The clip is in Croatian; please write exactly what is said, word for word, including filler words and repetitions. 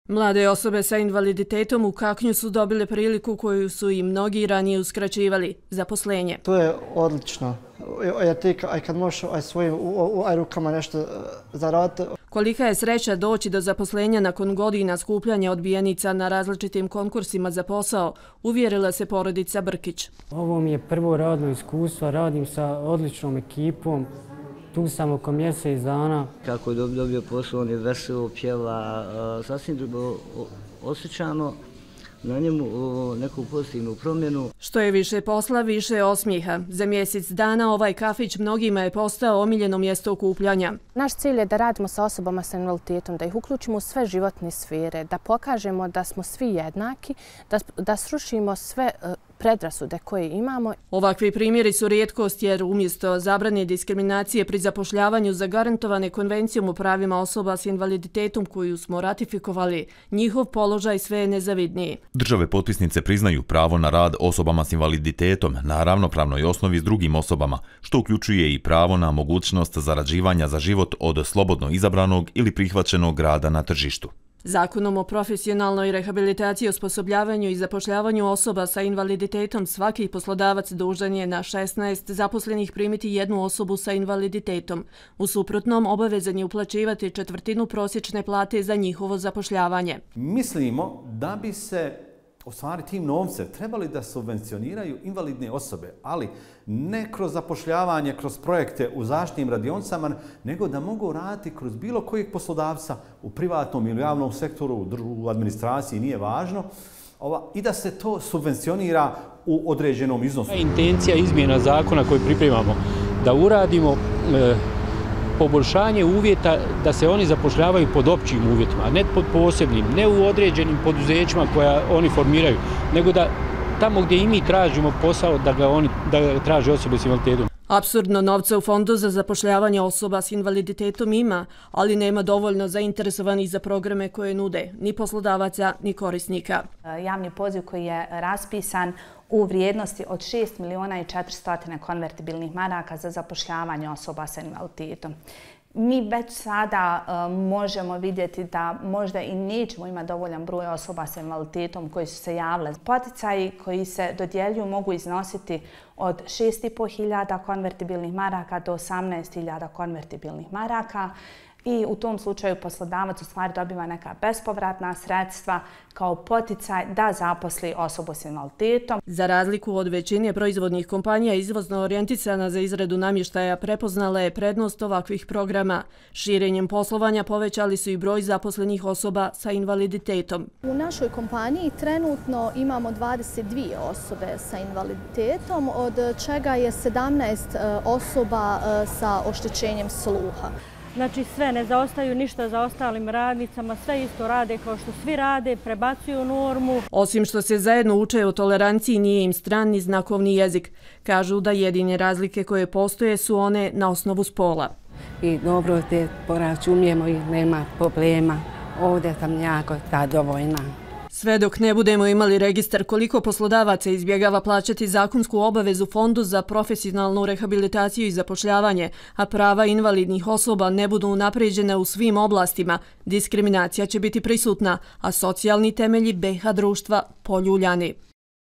Mlade osobe sa invaliditetom u Kaknju su dobile priliku koju su i mnogi ranije uskraćivali – zaposlenje. To je odlično. Jer ti kad možeš svojim rukama nešto zaraditi. Kolika je sreća doći do zaposlenja nakon godina skupljanja odbijenica na različitim konkursima za posao, uvjerila se porodica Brkić. Ovo mi je prvo radno iskustvo, radim sa odličnom ekipom. Tu sam oko mjesec dana. Kako je dobio posao, on je veselo, pjeva, sasvim drugo osjećano na njemu neku pozitivnu promjenu. Što je više posla, više je osmijeha. Za mjesec dana ovaj kafić mnogima je postao omiljeno mjesto okupljanja. Naš cilj je da radimo sa osobama sa invaliditetom, da ih uključimo u sve životne sfere, da pokažemo da smo svi jednaki, da, da srušimo sve predrasude koje imamo. Ovakvi primjeri su rijetkost jer umjesto zabrane diskriminacije pri zapošljavanju zagarantovane Konvencijom o pravima osoba s invaliditetom koju smo ratifikovali, njihov položaj sve je nezavidniji. Države potpisnice priznaju pravo na rad osobama s invaliditetom na ravnopravnoj osnovi s drugim osobama, što uključuje i pravo na mogućnost zarađivanja za život od slobodno izabranog ili prihvaćenog rada na tržištu. Zakonom o profesionalnoj rehabilitaciji i osposobljavanju i zapošljavanju osoba sa invaliditetom svaki poslodavac dužan je na šesnaest zaposlenih primiti jednu osobu sa invaliditetom. U suprotnom, obavezan je uplaćivati četvrtinu prosječne plate za njihovo zapošljavanje. Mislimo da bi se u stvari tim novcem trebali da subvencioniraju invalidne osobe, ali ne kroz zapošljavanje, kroz projekte u zaštitnim radionicama, nego da mogu raditi kroz bilo kojeg poslodavca u privatnom ili javnom sektoru, u administraciji, nije važno, i da se to subvencionira u određenom iznosu. Intencija izmjena zakona koju pripremamo da uradimo poboljšanje uvjeta da se oni zapošljavaju pod općim uvjetima, a ne pod posebnim, ne u određenim poduzećima koja oni formiraju, nego da tamo gdje i mi tražimo posao da ga oni da ga traže osobe s invaliditetom. Apsurdno, novca u Fondu za zapošljavanje osoba s invaliditetom ima, ali nema dovoljno zainteresovanih za programe koje nude ni poslodavaca ni korisnika. Javni poziv koji je raspisan u vrijednosti od šest miliona i četiristo konvertibilnih maraka za zapošljavanje osoba sa invaliditetom. Mi već sada uh, možemo vidjeti da možda i nećemo imati dovoljan broj osoba sa invaliditetom koji su se javile. Poticaji koji se dodjeljuju mogu iznositi od šest i pol hiljada konvertibilnih maraka do osamnaest hiljada konvertibilnih maraka. I u tom slučaju poslodavac u stvari dobiva neka bespovratna sredstva kao poticaj da zaposli osobu s invaliditetom. Za razliku od većine proizvodnih kompanija izvozno orijentisana za izradu namještaja prepoznala je prednost ovakvih programa. Širenjem poslovanja povećali su i broj zaposlenih osoba sa invaliditetom. U našoj kompaniji trenutno imamo dvadeset dvije osobe sa invaliditetom, od čega je sedamnaest osoba sa oštećenjem sluha. Znači sve, ne zaostaju ništa za ostalim radnicama, sve isto rade kao što svi rade, prebacuju normu. Osim što se zajedno uče o toleranciji, nije im stran ni znakovni jezik. Kažu da jedine razlike koje postoje su one na osnovu spola. I dobro te poračunjemo i nema problema. Ovdje sam jako zadovoljna. Sve dok ne budemo imali registar koliko poslodavaca izbjegava plaćati zakonsku obavezu Fondu za profesionalnu rehabilitaciju i zapošljavanje, a prava invalidnih osoba ne budu unapređene u svim oblastima, diskriminacija će biti prisutna, a socijalni temelji B iH društva poljuljani.